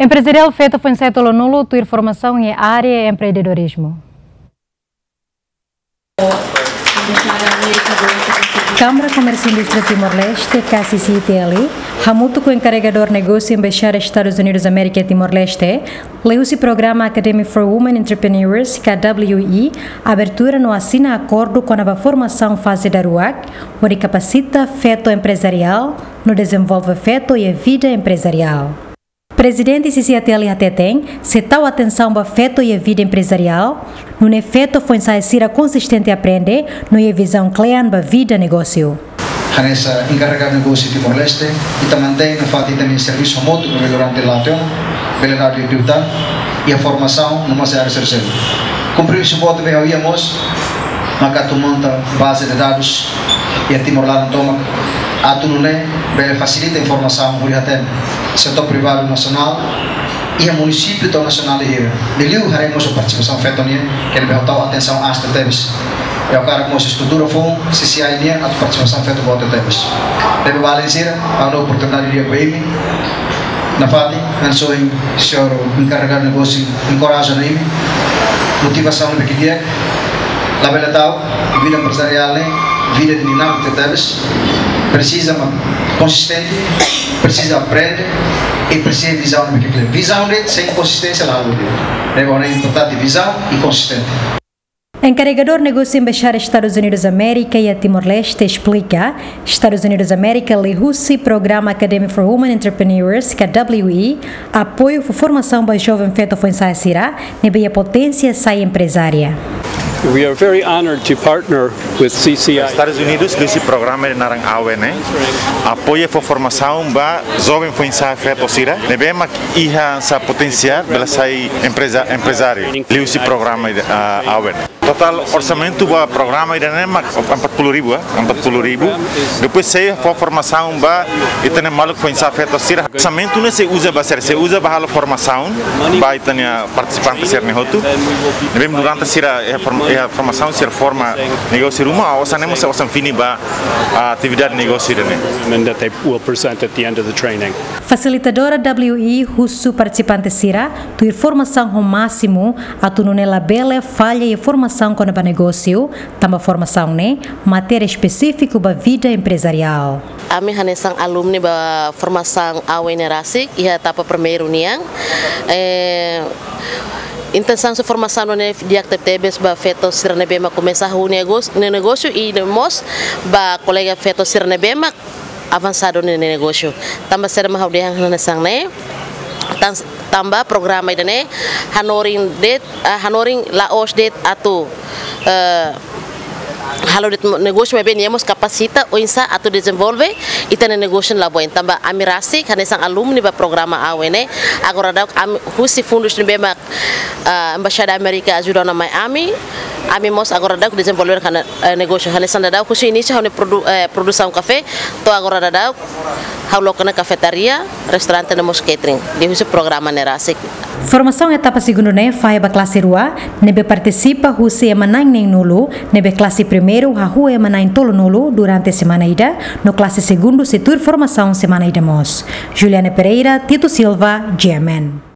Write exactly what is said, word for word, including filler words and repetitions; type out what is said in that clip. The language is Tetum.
Emprezariál feto foin-sa'e tolunulu tuir formasaun iha área empreendedorizmu. Kámara Komérsiu Indústria Timor-Leste, K C C I T L, hamutuk ho enkaregadór negósiu Embaixada Estadus Unidus Amérika Timor-Leste, liuhusi programa Academy for Women Entrepreneurs, ka W E, abertura no asina akordu kona-ba formasaun faze daruak, hodi kapasita feto emprezariál, no dezenvolve feto iha vida emprezariál. Prezidente C C I T L hateten, sei tau atensaun ba feto iha vida emprezariál, nune'e feto foin-sa'e sira konsistente aprende, no iha vizaun kle'an ba vida negósiu. Hanesan enkaregadu negósiu Timor-Leste, ita mantein nafatin ita-nia servisu hamutuk durante latihan, bele dadu ida-idak, iha formasaun no mós área sosiál. Kompromisu boot ne'ebé ha'u iha mós, maka atu monta baze de dadus iha Timor laran tomak, atu nune'e bele fasilita informasaun hodi hatene setór privadu nasionál iha munisípiu to'o nasionál hira. Liuliu haree mós partisipasaun feto nian, ke ne'ebé ha'u tau atensaun aas tebes. I ha'u hakarak mós estrutura foun C C I nian atu partisipasaun feto boot tebes. Ne'ebé maluk sira, ha'u hato'o oportunidade di'ak ba imi. Nafatin, hanesan ohin señór enkaregadu negósiu enkoraja ona imi, motivasaun ne'ebé di'ak, labele ta'uk, vida emprezariál ne'e vida dinámiku tebes, presiza mak konsistente, presiza aprende, i presiza vizaun ne'ebé di'ak. Vizaun ne'e sein konsisténsia la haluha. Ne'ebé importante vizaun i konsistente. Enkaregadór negósiu Embaixada Estadus Unidus Amérika iha Timor-Leste esplika, Estadus Unidus Amérika liuhusi programa Academy for Women Entrepreneurs, ka W E, apoiu fó formasaun ba joven feto foin-sa'e sira ne'ebé iha poténsia sai emprezária. We are very honored to partner with C C I. Estadus Unidus liuhusi programa ida naran AWE ne'e apoiu fó formasaun ba joven foin-sa'e feto sira ne'ebé mak iha hanesan poténsia bele sai empreza, emprezáriu liuhusi programa ida, ah, AWE ne'e. Totál orsamentu ba programa ida-ne'e mak empat puluh ribu, ah, empat puluh ribu. Depois sei fó formasaun ba ita-nia maluk foin-sa'e feto sira. Orsamentu ne'e sei uza ba sira, sei uza ba halo formasaun ba ita-nia partisipante sira-ne'e hotu. Ne'ebé durante sira iha form-, iha formasaun sira forma negósiu ruma, osan ne'e mós osan fini ba, ah, atividade negósiu ida-ne'e. And that they will present at the end of the training. Fasilitadora W E husu partisipante sira tuir formasaun ho másimu, atu nune'e labele falla iha formasaun kona-ba negósiu, tanba formasaun ne'e matéria espesífiku ba vida emprezariál. Ami hanesan alumni ba formasaun AWE ne'e rasik, iha etapa primeiru nian. Eh, intensaun husi formasaun ne'e di'ak tebetebes ba feto sira ne'ebé mak komesa hahú negós-, ne-, negósiu i mós ba kolega feto sira ne'ebé mak avansadu nia negósiu. Tanba saida mak ha'u dehan hanesan ne'e? Tan-, tanba programa ida-ne'e hanorin de'it, ah, hanorin la'ós de'it atu, eh, halo de'it negósiu, maibé nia mós kapasita oinsá atu dezenvolve ita-nia negósiu la boin. Tanba ami rasik hanesan alumni ba programa AWE ne'e, agora daudaun ami husi fundus ne'ebé mak, ah, Embaixada Amérika ajuda ona mai ami, ami mós agora daudaun dezenvolve hane-, eh, negósiu hanesan daudaun husi inísiu ha'u-nia produ-, eh, produsaun kafé, to'o agora daudaun ha'u loke ona kafetaria, restaurante no mós catering, liuhusi programa ne'e rasik. Formasaun etapa segundu ne'e fahe ba klase rua, ne'ebé partisipa husi ema na'in neenulu, ne'ebé klase primeiru hahú ema na'in tolunulu durante semana ida, no klase segundu sei tuir formasaun semana ida mós. Juliana Pereira, Tito Silva, G M N.